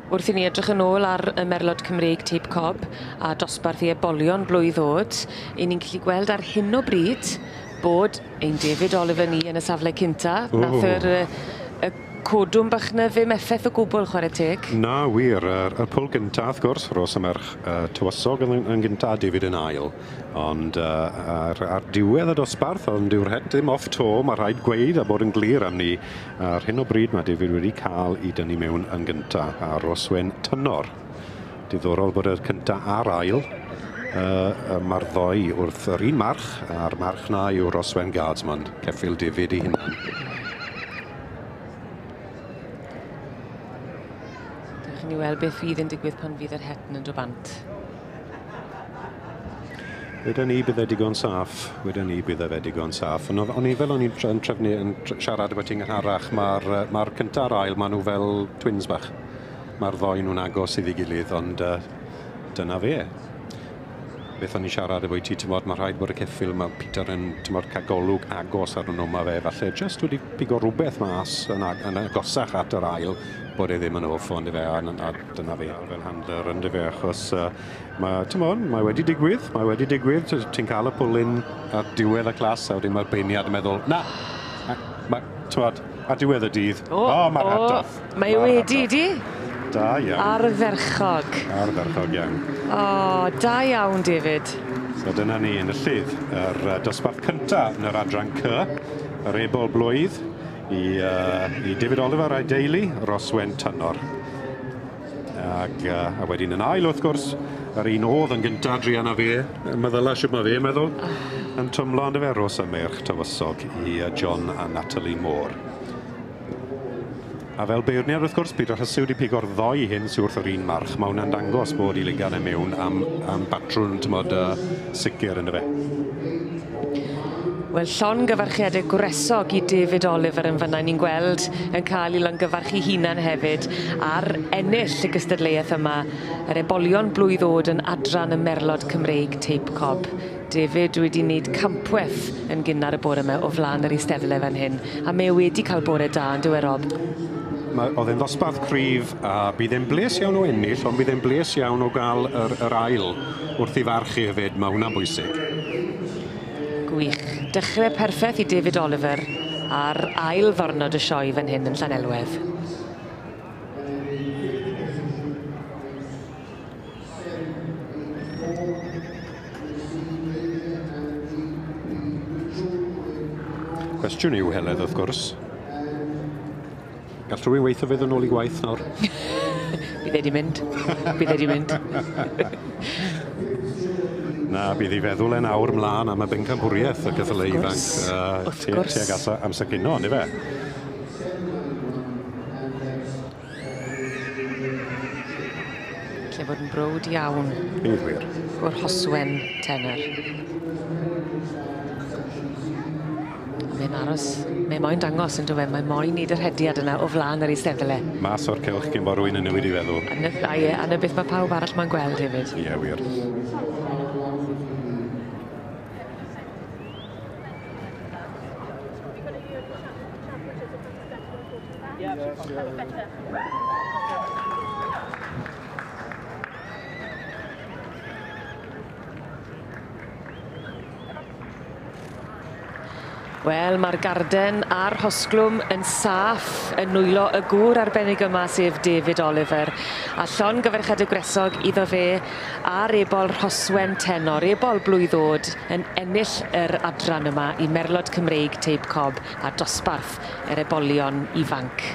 Wrth i ni edrych yn ôl ar y Merlod Cymreig Teip Cob a dosbarth i ebolion blwydd o'd, 'yn ni'n gallu gweld ar hyn o bryd bod ein David Oliver ni yn y safle cynta. Nath yr y codwm bach 'ny ddim effeth o gwbwl chware teg. Na wir, yr pwl gynta wrth gwrs, Ros y Merch Tywysog yn yn gynta a David yn ail. Ond ar diwedd y dosbarth, ond dyw'r het ddim off to, ma' rhaid gweud a bod yn glir am 'ny. Ar hyn o bryd mae David wedi cael ei dynnu mewn yn gynta a Rhoswen Tynor. Diddorol bod y cynta a'r ail. Mae'r ddoi wrth yr un march, a'r march na yw Rhoswen Guardsman, ceffyl David ei hunan. Dewch i ni weld beth fydd yn digwydd pan fydd yr het yn dod bant. Weden ni bydde digon saff, weden ni bydde fe digon saff. Ond o'n i fel o'n i'n trefnu yn siarad efo ti'n gynharach, mae'r ma cynta a'r ail, maen nhw fel twins bach. Mae'r ddoi nhw'n agos iddi gilydd, ond dyna fe. Beth o'n i'n siarad efo ti, ti'n mae rhaid bod y ceffyl, mae Peter yn ti'n cael golwg agos ar nhw, mae fe falle jyst wedi pigo rhywbeth mas yn agosach at yr ail, bod e ddim yn off, ond fe, a dyna fe fel handler, ond fe, achos mae wedi digwydd, ti'n cael y pwlyn ar diwedd y clas, a wedyn mae'r beirniad yn meddwl, na, ti'n ar diwedd y dydd, mae'r hat off. Mae wedi, di? Da iawn. Ardderchog. Ardderchog iawn. O, da iawn, David. So dyna ni yn y llydd, yr dosbarth cynta yn yr adran C, yr ebol blwydd i David Oliver a'i deulu, Rhoswen Tynor. Ac, a wedyn yn ail, wrth gwrs, yr un oedd yn gynta, druan a fe, meddyla shwt mae fe, meddwl, yn twmlo ond efe Ros y Meirch Tywysog i John a Natalie Moore. A fel beirniad, wrth gwrs, Peter Hussey wedi pigo'r ddoi hyn sydd wrth yr un march. Mae hwnna'n dangos bod i ligan e mewn am batrwn, tymod, sicr ynddo fe. Wel, llongyfarchiadau gwresog i David Oliver yn fan'na. Ni'n gweld yn cael ei longyfarchu hunan hefyd ar ennill y gystadleuaeth yma, yr ebolion blwydd o'd yn adran y Merlod Cymreig Teip Cob. David wedi wneud campweth yn gynnar y bore yma o flaen yr eisteddle fan hyn, a mae wedi cael bore da yn dyw e, Rob? Oedd e'n ddosbarth cryf a bydd e'n bles iawn o ennill, ond bydd e'n bles iawn o gael yr ail wrth i farchu hefyd, mae hwnna'n bwysig. Gwych. Dechrau perffaith i David Oliver ar ail ddwrnod y sioe fan hyn yn Llanelwedd. Cwestiwn yw, Heledd, wrth gwrs. Gall rhywun weithio fydd yn ôl i gwaith nawr? Bydd e 'di mynd. Bydd e 'di mynd. Na, bydd ei feddwl e'n awr mlaen am y bencampwriaeth y ceffylau ifanc. Wrth gwrs. Tuag at amser cino, on'd ife? Lle fod yn browd iawn. Bydd wir. O'r Rhoswen Tenor. Mae'n aros, mae moyn dangos yn dyw e, mae moyn neud y rhediad yna o flaen yr eisteddle. Mas o'r cylch cyn bod rhywun yn newid i feddwl. A ie, a 'na beth mae pawb arall ma'n gweld hefyd. Ie, wir. Wel, mae'r garden a'r rhosglwm yn saff yn nwylo y gŵr arbennig yma, sef David Oliver. A llongyfarchiadau gwresog iddo fe a'r ebol Rhoswen Tenor, ebol blwydd o'd, yn ennill yr adran yma i Merlod Cymreig Teip Cob a dosbarth yr ebolion ifanc.